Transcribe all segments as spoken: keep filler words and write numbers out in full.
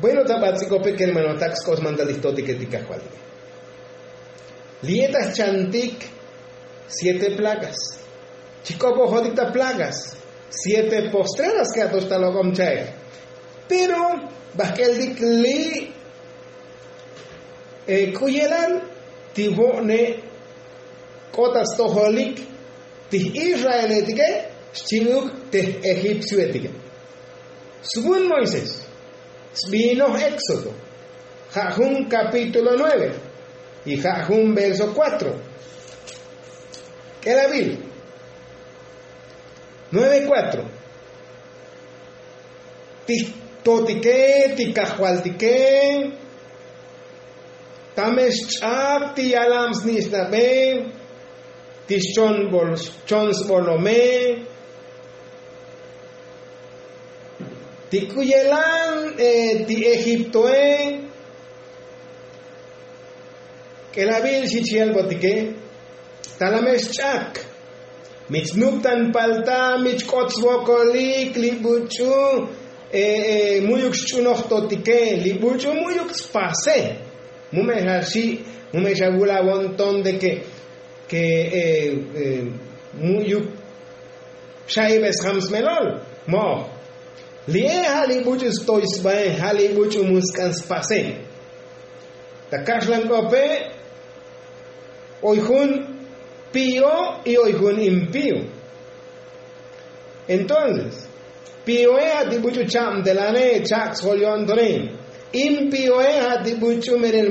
Bueno, ta bats'ikope kermanotak sk'os mantal ijtotike ti kajvaltike. Li'e ta jchantik siete plagas. Chik'opojotik ta plagas siete postreras ke atox ta lok'om cha'ej. Pero bajk'eltik li' k'u yelan ti vo'ne k'ot ta stojolik ti j'israeletike xchi'uk te j'egipcioetike. Svun moisés sbiinoj éxodo ja' jun kapítulo nueve y ja' jun verso kuatro. K'elabil nueve kuatro. Ti jtotike ti kajvaltike tame xch'ab ti yalam snich'nabe ti xchon sbolome ti k'u yelan ti egiptoe. K'elabil xich yalbotike talame xch'ak mi chnuptan palta mi chk'ot svokolik li buch'u mu'yuk xch'unoj totike li buch'u mu'yuk tspase. Mu me' xa xi' mu me' xa vulavon ton de ke ke mu'yuk xa'ibe sjam smelol. Mo'oj li'e ja' li buch'u stoy sbae ja' li buch'u mu sk'an spase. Ta kaxlan k'ope oy jun pío y oy jun impío. Entonces píoe ja' ti buch'u chabtelane chak' sjol yo'ntone. Impíoe ja' ti buch'u merel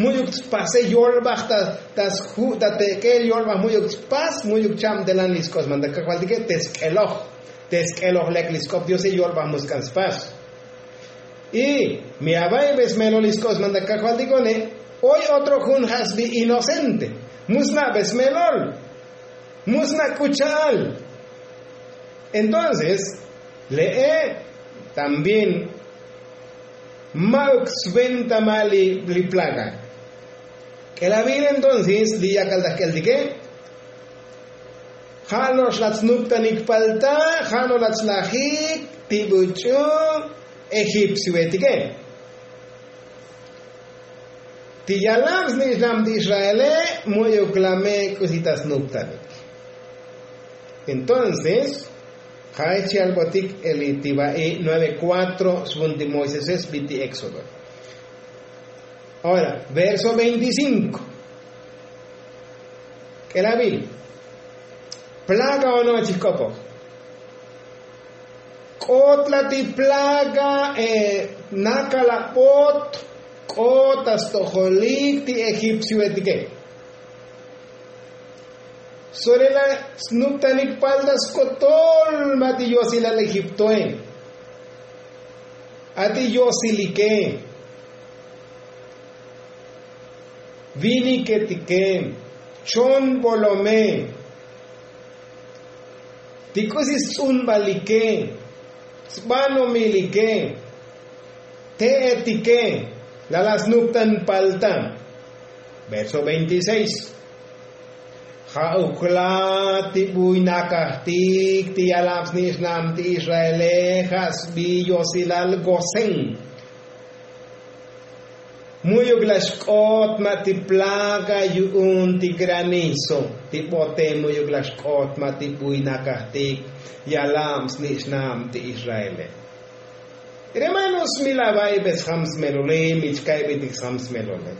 mu'yuk tspase yolbaj ta sju' ta tek'el yolbaj mu'yuk tspas mu'yuk chabtelan li sk'os mantal kajvaltike te sk'eloj te sk'eloj lek li sk'op diose yolbaj mu sk'an spas. Y mi ava'ibe smelol li sk'os mantal kajvaltikone. Oy otro jun ja' sbi inocente mu sna'be smelol mu sna' k'u cha'al. Entonces le'e también ma'uk sventa ma' li plaga. K'elabil entonces li yakal ta jk'eltike ja' no'ox lach snuptanik palta ja' no'ox lach slajik ti buch'u egipcioetike. Ti yalam snich'nam ti israele mu'yuk lame k'usi ta snuptanik. Entonces ja'ech yalbotik eli ti va'i nueve kuatro svun ti moisese sbi ti éxodo. Ahora verso veinticinko. K'elabil plaga ono' chijk'opoj. K'ot la ti plaga nakal abot k'ot ta stojolik ti egipcioetike. Sore la snuptanik palta skotol ma' ti yosilal egiptoe. A ti yosilike viniketike chon bolome ti k'usi sts'unbalike sbanomilike te'etike. Lala snuptan palta verso veintiseis. Ja'uk la ti buy nakajtik ti yalab snich'nam ti israele ja' sbi yosilal gosén. Mu'yuk la xk'ot ma' ti plaga yu'un ti granizo ti bote mu'yuk la xk'ot ma' ti buy nakajtik yalab snich'nam ti israele. Hermanos mi la va'ibe sjam smelole mi chka'ibeltik sjam smelole.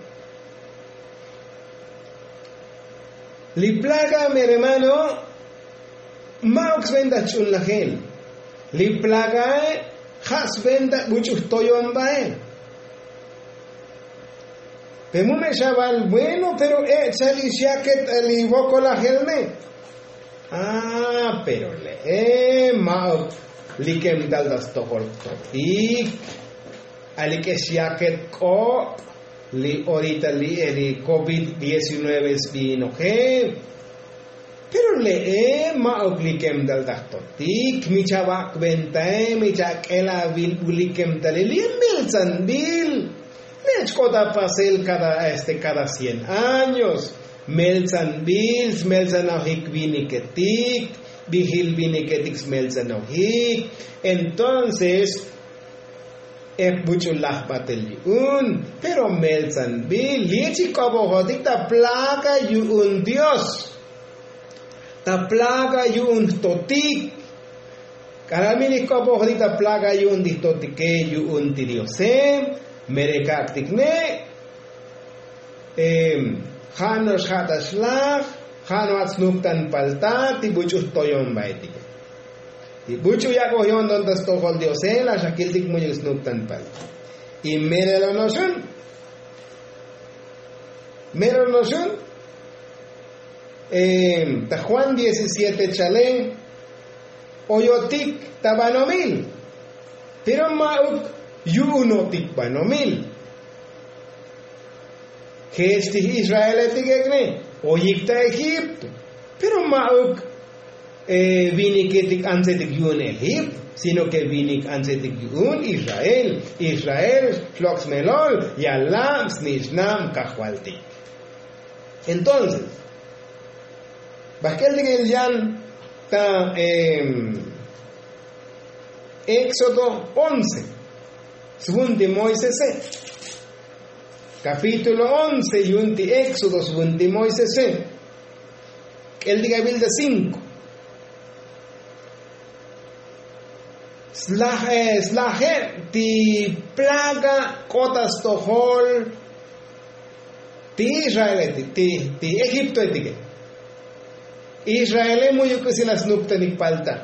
Li plaga mi hermano ma'uk sventa ch'unlajel. Li plagae ja' sventa buch'u jtoyon bae. Pe mu me' xaval bueno pero e' cha'al ix yaket ta li vokolajel me'. A pero le'e ma'uk likem tal ta stojol jtotik. Alik'ex yaket k'o' li orita li e li covid diecinueve sbiinoje. Pero le'e ma'uk likem tal ta jtotik mi chavak' ventae mi chak'el avil bu likem tale li meltsanbil. Lech k'ot apasel kada este kada cien años. Meltsanbil smeltsanojik viniketik vijil viniketik smeltsanojik. Entonces Ek buch'u laj batel yu'un. Pero meltzanbil li' chik k'obojotik ta plaga yu'un dios, ta plaga yu'un jtotik. K'alal mi li' k'obojotik ta plaga yu'un ti jtotike yu'un ti diose, mere kak'tik ne'. Ja' no'ox ja' ta xlaj, ja' no'at snuptan palta ti buch'u jtoyonbaetike. Ti buch'u yak'oj yo'nton ta stojol diose laj xa kiltik mu'yuk snuptan palta. Y merelo no'oxun, merelo no'oxun, ta juan diecisiete chale, oyotik ta banomil, pero ma'uk yu'unotik banomil. Jech ti israeletik ek'ne, oyik ta egipto, pero ma'uk viniketik antsetik yu'un egipto, sino ke vinik antsetik yu'un israel. Israel xlok' smelol, yalab snich'nab kajvaltik. Entonces, bajk'el tik el yan ta éxodo once, svun ti moisese. Kapítulo once yu'un ti éxodo svun ti moisese. K'el tik abil ta cinko. Slaje' slaje' ti plaga k'ot ta stojol ti israeletik ti egiptoetike. Israele mu'yuk k'usi la snuptanik palta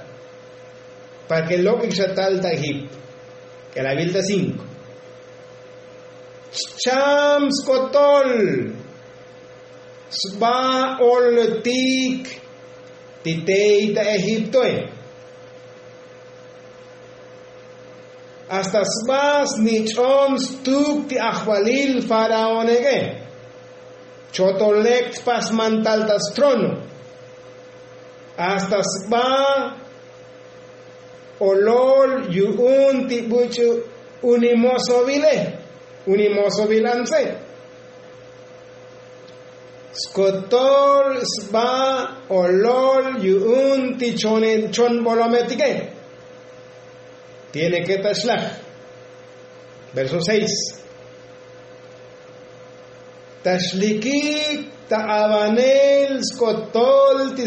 para ke lok'ik xa tal ta egipto. K'elabil ta cinko. Chcham skotol sba oltik ti tey ta egiptoe. Hasta sba snich'on stuk ti ajvalil faraóneke. Chotolek tpasmantal ta strono. Hasta sba olol yu'un ti buch'u unimosovile, unimosovil antse. Skotol sba olol yu'un ti chonbolometike. Tiene ke ta xlaj. Verso seis. Ta xlikik ta avanel skotol ti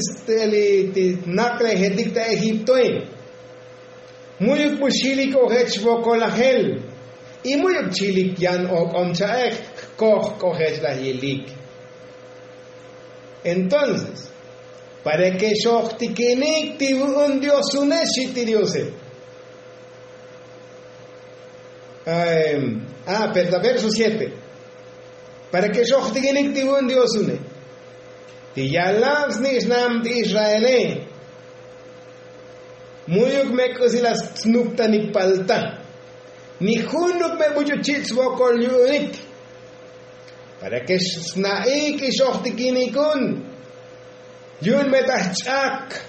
snaklejetik ta egiptoe. Mu'yuk bu xilik ojech vokolajel. Y mu'yuk chilik yan ok'om cha'ej jkoj k'ojech laj yilik. Entonces, para ke xojtikinik ti vu'un diosune xi' ti diose. Pero ta verso siete. Para ke xojtikinik ti vu'un diosune, ti yalab snich'nab ti israele, mu'yuk me k'usi la snuptanik palta. Ni junuk me buch'u chich' svokol yu'unik. Para ke sna'ik y xojtikinikun. Yu'un me ta jch'ak.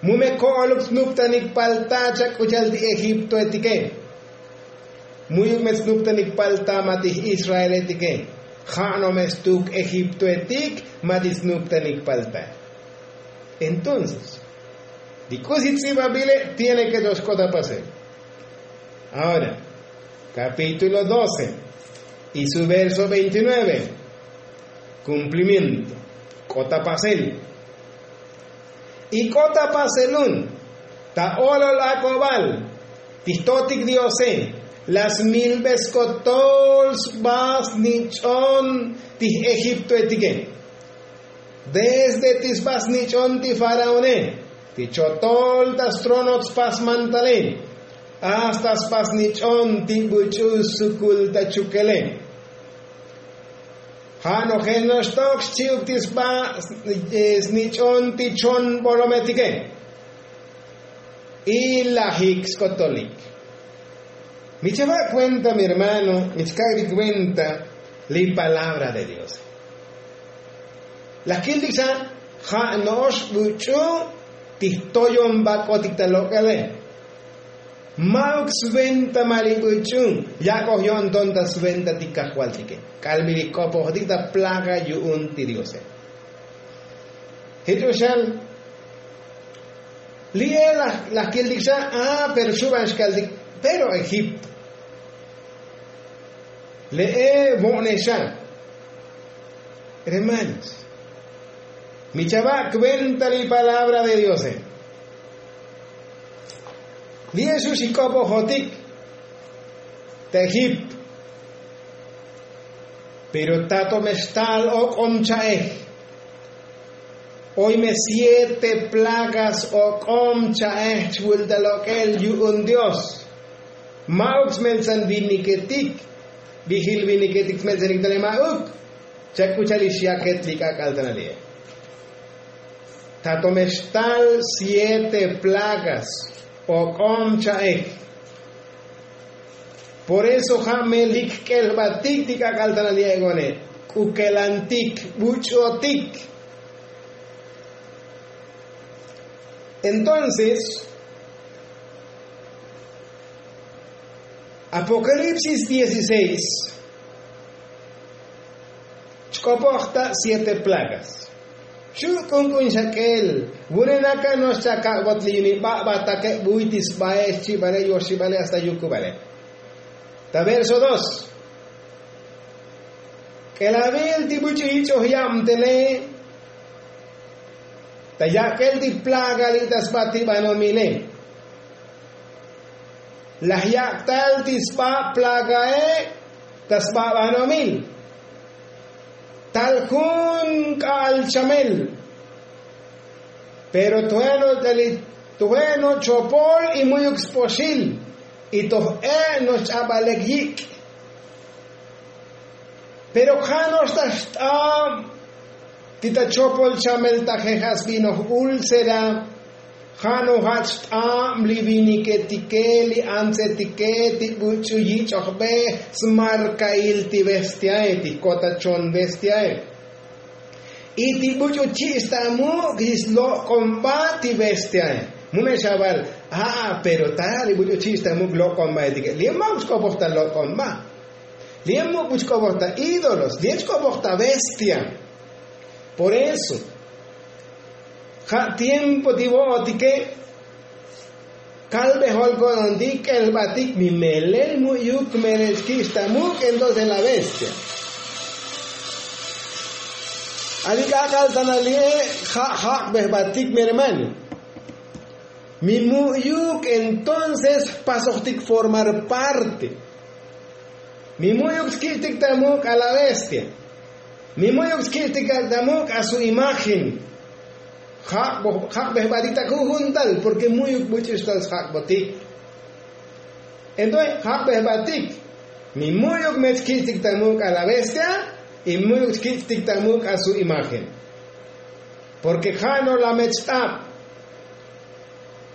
Mu me ko'oluk snuptanik palta chak k'u cha'al ti egiptoetike. Mu'yuk me snuptanik palta ma ti israeletike. Ja' no me stuk egiptoetik ma ti snuptanik palta. Entonces, ti k'usi ts'ibabile tiene ke to xk'ot ta pasel. Ahora, kapítulo doce y su verso veintinueve. Kumplimiento. K'ot ta pasel. Y k'ot ta paselun ta olol ak'obal ti jtotik diose, la smilbe skotol sba snich'on ti j'egiptoetike. Desde ti sba snich'on ti faraone, ti chotol ta strono tspasmantale, hasta sba snich'on ti buch'u sukul ta chukele. Ja' nojel noxtok xchi'uk ti sba snich'on ti chonbolometike. Y lajik skotolik. Mi chava' kuenta mi hermano, mi chkak' ti kuenta li palabra de dios. Laj kiltik xa ja' no'ox buch'u ti jtoyonbak'otik ta lok'ele. Ma'uk sventa ma li buch'u yak'oj yo'nton ta sventa ti kajvaltike. K'al mi li k'opojotik ta plaga yu'un ti diose. Jich uxan li'e laj kiltik xa. Pero xuban xkaltik pero egipto. Le'e vo'nexa. Hermanos, mi chava' kventa li palabra de diose. Li jesús ik'opojotik ta egipto. Pero tato me xtal ok'om cha'ej. Oy me siete plagas ok'om cha'ej chvulta lok'el yu'un dios. Ma'uk smeltsan viniketik. Vijil viniketik smeltsanik tale ma'uk. Chak'uchal ix yaket li k'ak'al tanali'e. Tato me xtal siete plagas ok'om cha'ej. Por eso ja' me lik k'el jbatik ti k'ak'al tanali'e one. K'ukelantik, buch'otik. Entonces, apokalipsis dieciséis, chk'opoj ta siete plagas. Xu' k'unk'un xak'el. Vune' naka' no'ox chakak'bot li yuni ba'batake buy ti sbae xchibale yoxibale hasta yukubale. Ta verso dos. K'elavil ti buch'u yich'oj yabtele ta yak'el ti plaga li' ta sba ti banomile. Laj yak'tal ti sba plagae ta sba banomil. Tal jun k'a'al chamel. Pero tujeno' chopol y mu'yuk spoxil. Y toj e' no'ox ch'abalek yik'. Pero ja' no'ox ta xt'ab ti ta chopol chamel taje ja' sbinoj úlcera. Ja' nojach xt'ab li viniketike li antsetike ti buch'u yich'ojbej smarkail ti bestiae ti jkotachon bestiae. Y ti buch'u chich' ta muk' li slok'omba ti bestiae. Mu me xaval. A'a pero ta li buch'u chich' ta muk' lok'ombaetike li' ma'uk xk'opoj ta lok'omba. Li' muk' buch k'opoj ta ídolos li' xk'opoj ta bestia. Por eso ja' tiempo ti vo'otike. Kalbejol ko'nontik k'el jbatik mi melel mu'yuk melel xkich' ta muk' entonces la bestia. Ali k'ak'al tanali'e ja' jak'bej jbatik mi hermano. Mi mu'yuk entonces jpasojtik formar parte. Mi mu'yuk xki'tik ta muk' a la bestia. Mi mu'yuk xki'tik ta muk' a su imagen. Jak'bej jbatik ta jujuntal porke mu'yuk buch'u xtal sjak'botik. Entonces jak'bej jbatik. Mi mu'yuk me xki'tik ta muk' a la bestia. Y mu'yuk xki'tik ta muk' a su imagen. Porke ja' no' la me xt'ab.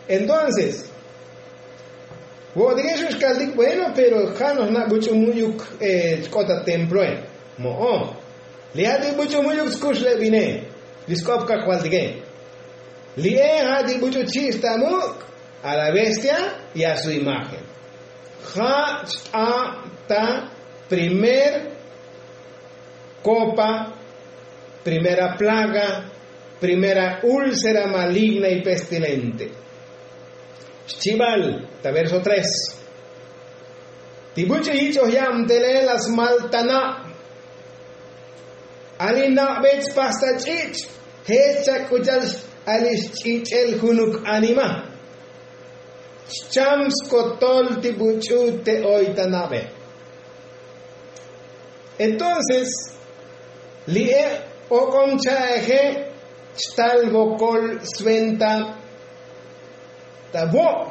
Entonces vo'otike xu' xkaltik bueno pero ja' no' jna' buch'u mu'yuk. Chk'ot ta temploe. Mo'o. Li ja' ti buch'u mu'yuk skuxlebine. Li sk'op kajvaltike. Li'e ja' ti buch'u chich' ta muk' a la bestia y a su imagen. Ja' xt'ab ta primer kopa, primera plaga, primera úlcera maligna y pestilente. Xchibal ta verso tres. Ti buch'u yich'oj yabtele la smal ta nab. Ali na'be chpas ta ch'ich' jech chak'uchal ali xch'ich'el junuk anima. Xcham skotol ti buch'u te oy ta na'be. Entonces li'e ok'om cha'eje chtal vokol sventa ta vo'.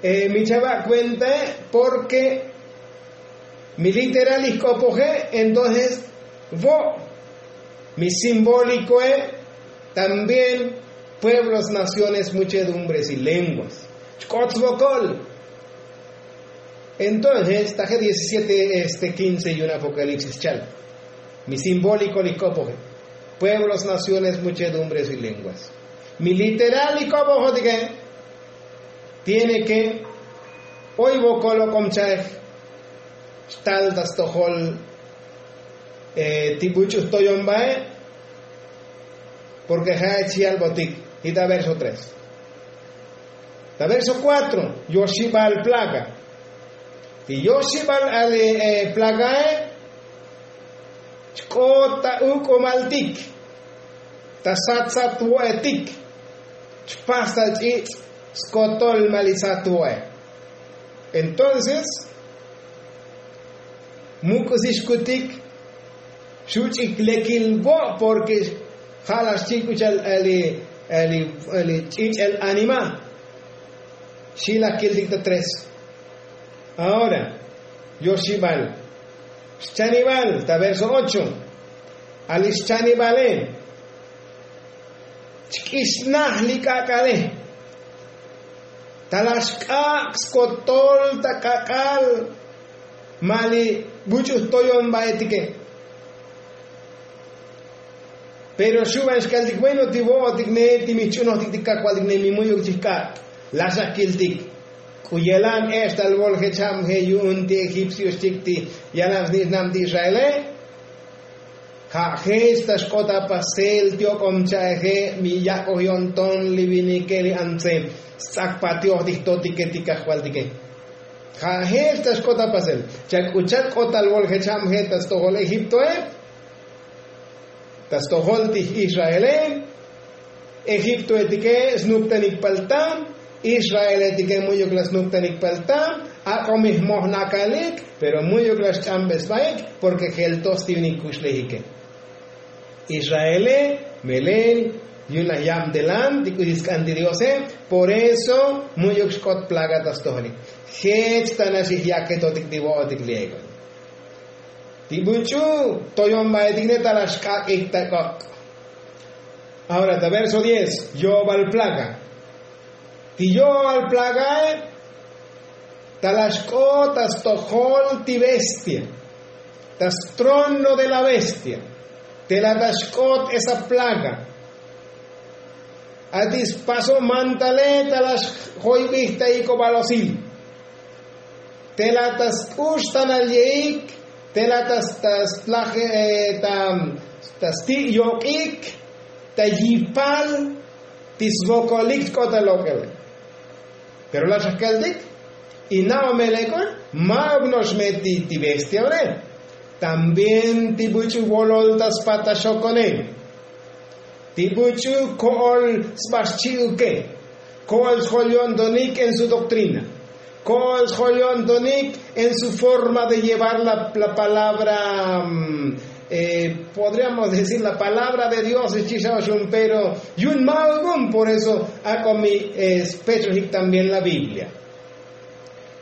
Mi chava' kuentae porke mi literal ijk'opoje entonces vo'. Mi simbólikoe también pueblos naciones muchedumbres y lenguas. Chk'ot svokol. Entonces taje diecisiete este quince yun apokalipsis chal. Mi simbóliko li k'opoje pueblos naciones muchedumbres y lenguas. Mi literal li k'opojotike tiene ke oy vokol ok'om cha'ej xtal ta stojol ti buch'u jtoyombae. Porke ja'ech yalbotik. Y ta verso tres ta verso kuatro yoxibal plaga. Ti yoxibal ali plagae chk'ot ta uk'umaltik, ta sat sat wo'etik, chpas ta ch'ich' skotol ma' li sat wo'e. Entonces mu k'usi xkutik, xuch'ik lekil vo' porke ja' laj xchik k'u cha'al li ch'ich'el anima. Xi' laj kiltik ta tres. Ahora yoxibal xchanibal ta verso ocho. Ali xchanibale chk'ixnaj li k'ak'ale. Ta laj xk'ak' skotol ta k'ak'al ma' li buch'u jtoyonbaetike. Pero xuban xkaltik bueno ti vo'otik ne ti mi jch'unojtik ti kajvaltik ne mi mu'yuk chijk'ak'. Laj xakiltik k'u yelan ex tal vol jechab je' yu'un ti egipcio xchik ti yalan sni'nab ti israele. Ja' jech ta xk'ot apasel ti ok'om cha'eje mi yak'oj yo'nton li vinike li antse sts'akpatioj ti jtotike ti kajvaltike. Ja' jech ta xk'ot apasel chak'uchak k'ot tal vol jechab je' ta stojol egiptoe, ta stojol ti israele. Egiptoetike snuptanik palta, israeletike mu'yuk laj snuptanik palta. Ak'o mi jmoj nakalik pero mu'yuk laj xch'ambesbaik porke jeltoj stivinik kuxlejike. Israele melel yu'un laj yabtelan ti k'usi sk'an ti diose. Por eso mu'yuk xk'ot plaga ta stojolik. Jech ta nax ijyaketotik ti vo'otik liego ti buch'u toyonbaetik ne ta laj xk'ak'ik ta k'ok'. Ahora ta verso diez yo'obal plaga. Ti yo'obal plagae ta laj xk'ot ta stojol ti bestia, ta strono de la bestia. Te laj ta xk'ot esa plaga. A ti spaso mantale ta laj xjoybij ta ik'obal osil. Te laj ta sk'ux tanal yeik, te laj ta ta slaje ta ta sti' yok'ik, ta yipal ti svokolik chk'ot ta lok'ele. Pero laj xajkaltik y na'o meleko ma'uk no'ox me ti ti bestia ore. También ti buch'u volol ta spat ta xokone, ti buch'u ko'ol sba xchi'uke, ko'ol sjol yo'ntonik en su doktrina, ko'ol sjol yo'ntonik en su forma de llevar la palabra. Podríamos decir la palabra de dios xchi xa oxun pero yu'un ma'uk un por eso ak'o mi spechojik también la biblia.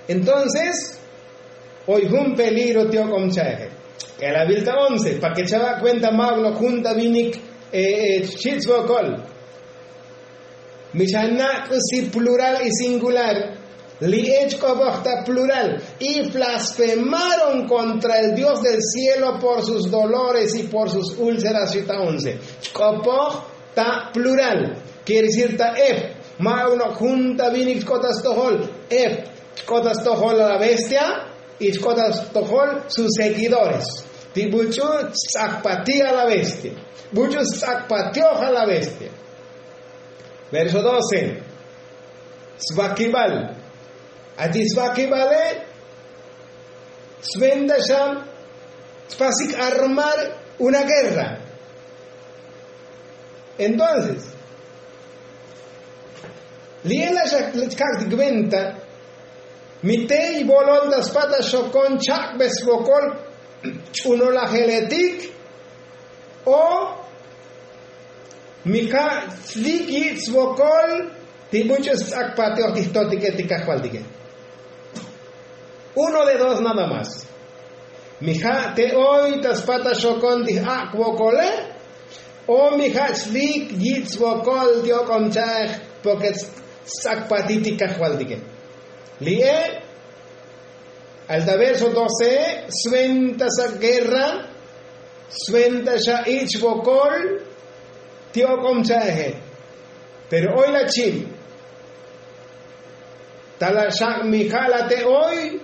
Entonces oy jun peligro ti ok'om cha'eje. K'elavil ta once pa ke chava' kuenta ma'uk no' jun ta vinik xchi' svokol. Mi xa na' k'usi plural y singular. Li ech k'opoj ta plural y blasfemaron kontra el dios del cielo por sus dolores y por sus úlceras xita once. Chk'opoj ta plural. Kiere decir ta ef ma'uk no' jun ta vinik chk'ot ta stojol. Ef chk'ot ta stojol a la bestia y chk'ot ta stojol sus seguidores. Ti buch'u sts'akpati a la bestia. Buch'u sts'akpatioj a la bestia. Verso doce. Svakibal. Ati svakibale sventa xa tpasik armar una guerra. Entonces li'e la xakak'tik venta mi tey volol ta spat ta xokon chak'be svokol ch'unolajeletik o mi ja' slik yich' svokol ti buch'u sts'akpatioj ti jtotike ti kajvaltike. Uno de dos nada más. Mi ja' te oy ta spat ta xokon ti j'ak' vokole o mi ja' slik yich' svokol ti ok'om cha'ej porke sts'akpati ti kajvaltike. Li'e al ta verso doce sventa sa guerra. Sventa xa ich' vokol ti ok'om cha'eje. Pero oy la chil ta la xa' mi ja' la te oy,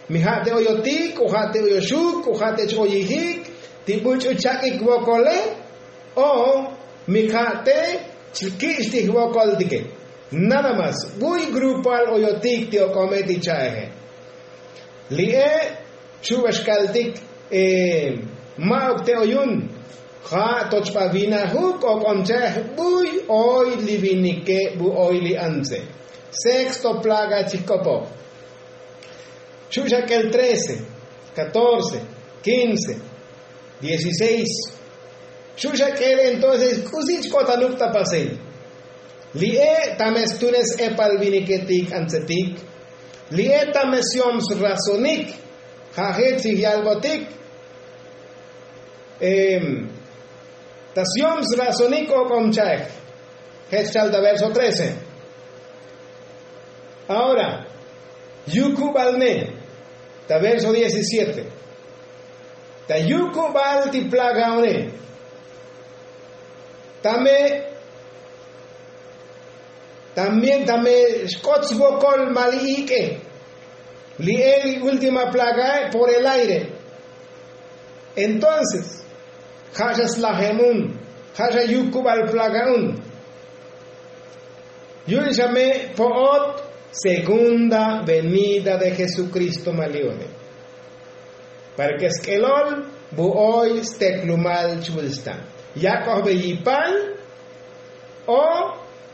mi ja' te oyotik o ja' te oyoxuk o ja' te ch-oyijik ti buch'u chak'ik vokole o mi ja' te chkich' ti jvokoltike. Nada más buy grupal oyotik ti ok'ome ti cha'eje. Li'e' chu'baxkaltik ma'uk te oyun ja' to chba vinajuk o k'omcha'ej buy oy li vinike bu oy li antse. Sexto plaga chijk'opoj. Chu'xak'el trece, catorce, quince, dieciséis. Chu'xak'el entonces k'usi chk'otanuk ta pasel. Li'e' tame stunes epal viniketik antsetik. Li'e' tame syom srazonik. Ja' jech chij yalbotik. Ta syom srazonik o k'omcha'ej. Jech chal ta verso trece. Ahora yukubal ne ta verso diecisiete. Ta yukubal ti plagaone. Tame también tame xk'ot svokol ma li ik'e. Li'e li última plagae por el aire. Entonces ja' xa slajem un. Ja' xa yukubal plaga un. Yu'un xa me' po'ot segunda venida de jesukristo ma li one. Para ke sk'elol bu oy steklumal chvul stan yak'ojbe yipal o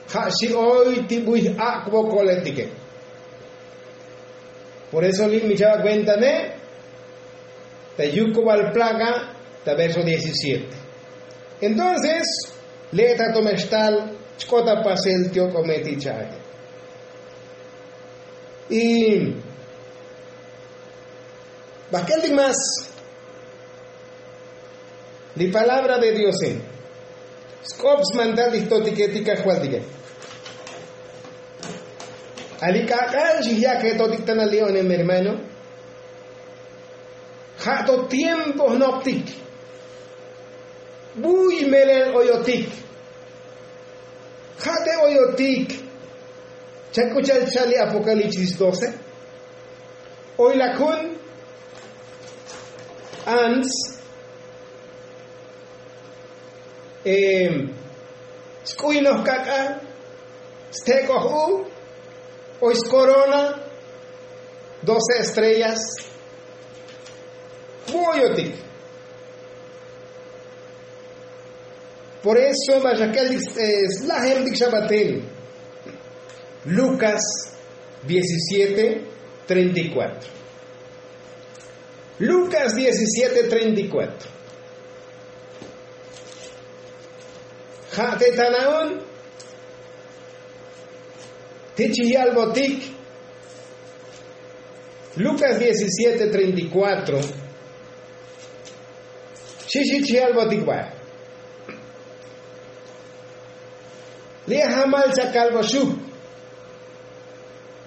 ja' xi oy ti buy ak'vokoletike. Por eso li' mi chava' kuenta ne ta yukubal plaga ta verso diecisiete. Entonces le' ta tome xtal chk'ot apasel ti ok'ome ti cha'aje. Y bajk'el tik más li palabra de diose sk'op smantal ti jtotike ti kajvaltike. Ali k'ak'al xijyake totik tana li onem hermano. Ja' to tiempo jnoptik buy melel oyotik. Ja' te oyotik chak'uchal chal li apocalipsis doce. Oy lak jun ants sk'uynoj k'ak'al stek'oj u oy skorona doce estrellas. Bu'oyotik. Por eso ma xak'eltik slajemtik xa batel. Lucas diecisiete treinta y cuatro. Lucas diecisiete treinta y cuatro. Ja' te tanaun ti chij yalbotik. Lucas diecisiete treinta y cuatro. Xixi chij yalbotik ba' li' jamal chakalboxuk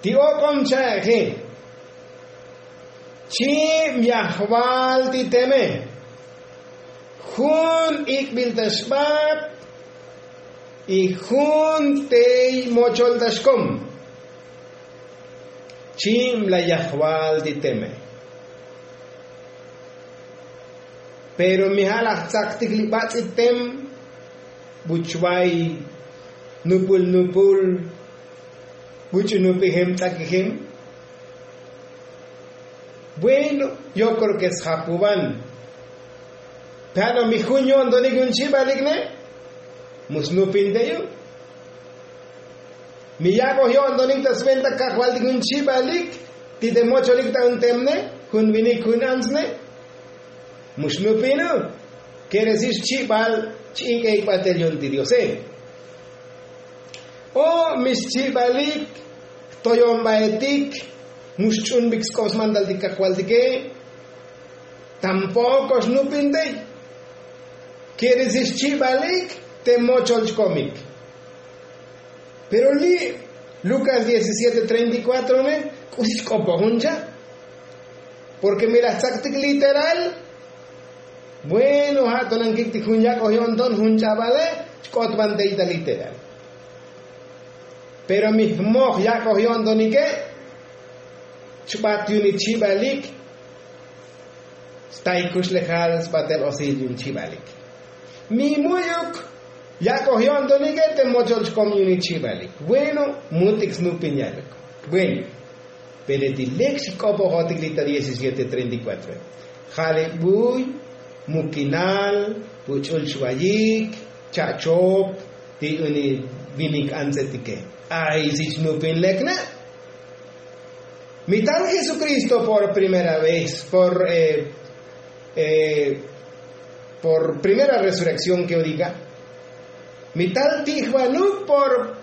ti ok'om cha'eje. Chib yajval ti teme jun ik'bil ta xbat y jun tey mochol ta xkom. Chib la yajval ti teme. Pero mi ja' laj tzaktik li batz'it tem buchvay nupul nupul buch'u nupijem tz'akijem. Bueno, yo kreo ke sjapuvan. Pero mi jun yo'ntonik yun chibalik ne mu snupin te yu'. Mi yak'oj yo'ntonik ta sventa kajvaltik jun chibalik ti te mocholik ta jun tem ne jun vinik jun ants ne. Mu xnupinu. Kere si xchibal ch'ik'e ik'batel yon ti diose. O mi xchibalik jtoyonbaetik mu xch'unbik sk'op smantal ti kajvaltike. Tampoko xnupintey. Kere si xchibalik te mochol chkomik. Pero li' lukas diecisiete treinta y cuatro ne k'usi chk'opoj jun cha'. Porke mi laj tzaktik literal. Bueno ja' to nankiktik jun yak'oj yo'nton jun ch'abale chk'otbantey ta literal. Pero mi jmoj yak'oj yo'ntonike chbat yuni chibalik. Stay kuxlejal sbatel osil yun chibalik. Mi mu'yuk yak'oj yo'ntonike te mochol chkom yuni chibalik. Bueno, mutik snupin yaluk. Bueno. Pero ti lek xk'opojotik li ta diecisiete treinta y cuatro, ja' li buy, mukinal, buch'ul xvayik, cha'chop ti uni vinik antsetike. Ay si chnupin lek na'. Mi tal jesukristo por primera vez por por primera resurrekción ke yo diga, mi tal tijvanuk por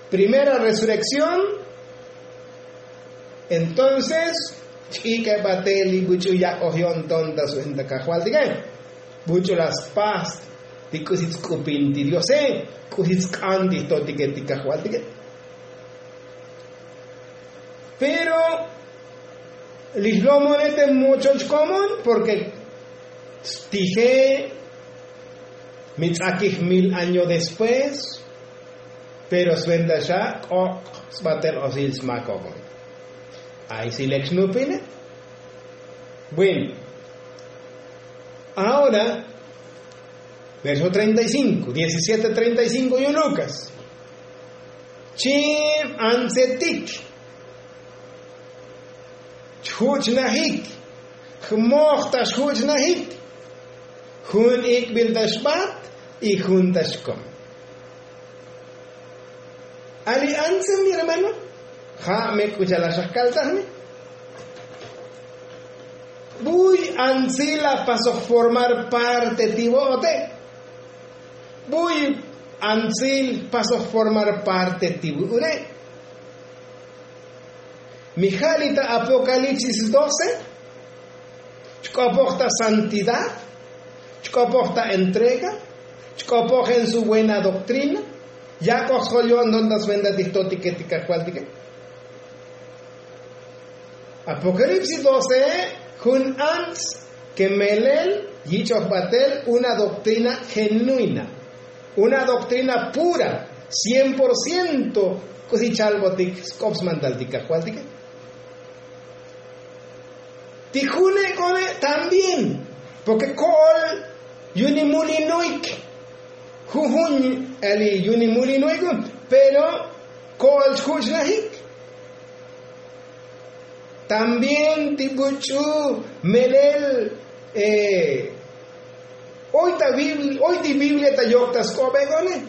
primera resurrekción. Entonces ch'ik'e batel li buch'u yak'oj yo'nton ta su'en ta kajvaltike. Buch'u la spas ti k'usi tsk'upin ti diose, k'usi tsk'an ti jtotike ti kajvaltike. Pero li jlomone te mochol chkomon porke stije, mi ts'akij mil año después. Pero sventa xa k'ok' sbatel osil smakokon. Ay si lek xnupine. Bueno, ahora verso treinta y cinco, diecisiete treinta y cinco yu lukas. Chim antsetik chjuch'najik, jmoj ta xjuch'najik, jun ik'bil ta xbat y jun ta xkom. Ali antse mi hermano, ja' me k'u cha'al xajkaltaj mi. Buy antsil la pasoj formar parte ti vo'ote. Buy antsil pasoj formar parte ti vu'une. Mi ja' li ta apokalipsis doce, chk'opoj ta santidad, chk'opoj ta entrega, chk'opoj en su buena doktrina. Yak'oj sjol yo'nton ta sventa ti jtotike ti kajvaltike. Apokalipsis doce, jun ants ke melel yich'oj batel una doktrina genuina, una doktrina pura, cien por ciento k'usi chalbotik sk'op smantal ti kajvaltike. Ti june' k'one' también porke ko'ol yuni mulinoik. Jujun ali yuni mulinoik pero ko'ol chjuch'najik. También ti buch'u melel oy ta biblia oy ti biblia ta yok ta sk'obe' k'one'.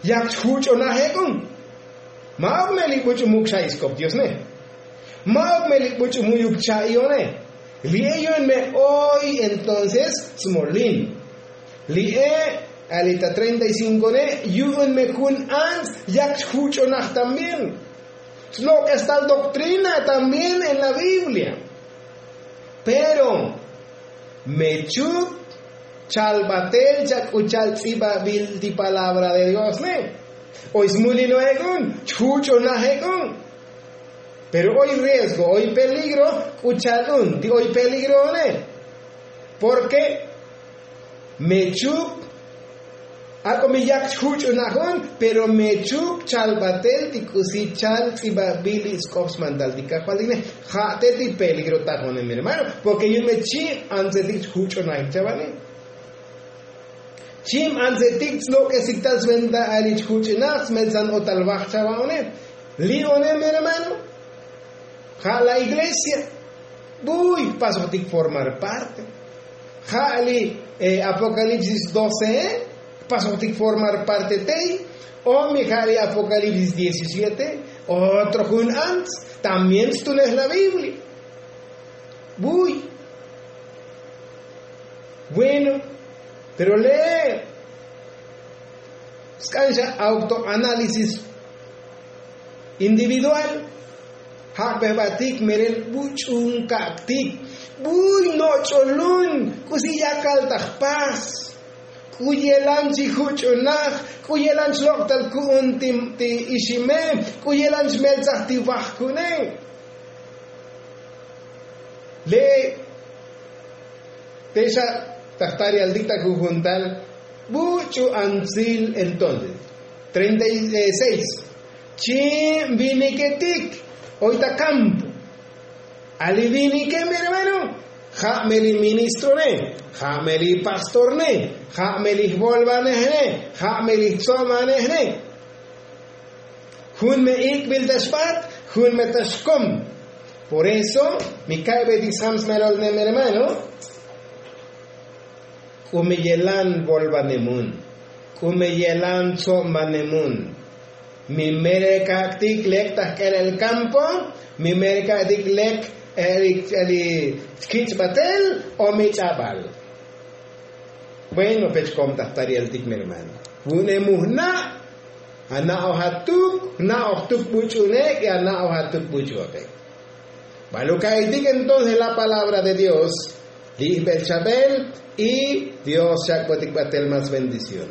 Yak chjuch'onaje k'un. Ma'uk me li buch'u muk xa'i sk'op diosne. Ma'uk me li buch'u mu'yuk cha'ione. Li'e yu'un me oy entonces smolin. Li'e ali ta treinta y cinco ne yu'un me jun ants yak chjuch'onaj también. Slok'es tal doktrina también en la biblia. Pero mechuk chal batel chak k'u chal tz'ibabil ti palabra de dios ne. Oy smulino'ek'un chjuch'onaje'k'un. Pero oy riesgo oy peligro k'u chal un ti oy peligro'one. Porke mechuk ak'o mi yak chjuch'unaj un pero mechuk chal batel ti k'usi chal tz'ibabil li sk'op smantal ti kajvaltine. Ja' te ti peligro tajonem hermano porke yu'un me chib antsetik chjuch'unajik chavane. Chib antsetik tslok'esik tal sventa ali chjuch'unaj smeltzan otal vaj chavaone. Li'one mi hermano. Ja' la iglesia buy jpasojtik formar parte. Ja' li apokalipsis doce jpasojtik formar parte tey. O mi ja' li apokalipsis diecisiete otro jun ants también stulej la biblia. Buy. Bueno, pero lee sk'an xa autoanálisis individual. Ja' bejbatik merel buch'un ka'ktik buy noch'olun k'usi yakal ta jpas. K'u yelan chi juch'unaj k'u yelan chlok'tal ku'un ti ixime k'u yelan chmeltzaj ti vajkune. Le' te xa ta jtarialtik ta jujuntal buch'u antsil entonces treinta y seis. Chi viniketik oy ta kampo. Ali vinike mi hermano ja' me li ministrone, ja' me li pastorne, ja' me li jvolvanejne, ja' me li jtsomanejne. Jun me ik'bil ta xbat, jun me ta xkom. Por eso mi ka'betik sam smelol nem hermano, k'u me yelan bolbanemun, k'u me yelan tsobbanemun. Mi mereka'tik lek ta jk'elel kampo, mi mereka'tik lek e'elik ch'el li chkich'batel o mi ch'abal. Bueno pech komtajtarieltik mi hermano, vu'une mu jna', ana'oj atuk jna'oj tuk buch'unek y ana'oj atuk buch'uotek. Baluka'etik entonces la palabra de dios, li' jbel chabel, y dios chak'botik batel mas bendición.